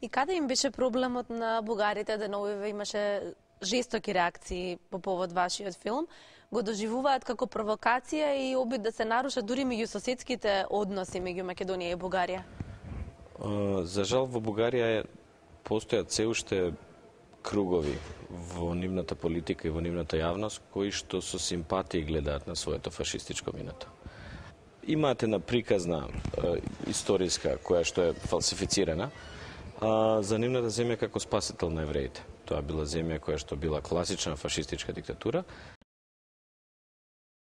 И каде им беше проблемот на бугарите деновиве имаше жестоки реакции по повод вашиот филм? Го доживуваат како провокација и обид да се нарушат дури меѓу соседските односи меѓу Македонија и Бугарија? За жал во Бугарија постојат се уште кругови во нивната политика и во нивната јавност кои што со симпатија гледаат на своето фашистичко минато. Имате една приказна историска која што е фалсифицирана за нивната земја како спасител на евреите. Тоа била земја која што била класична фашистичка диктатура,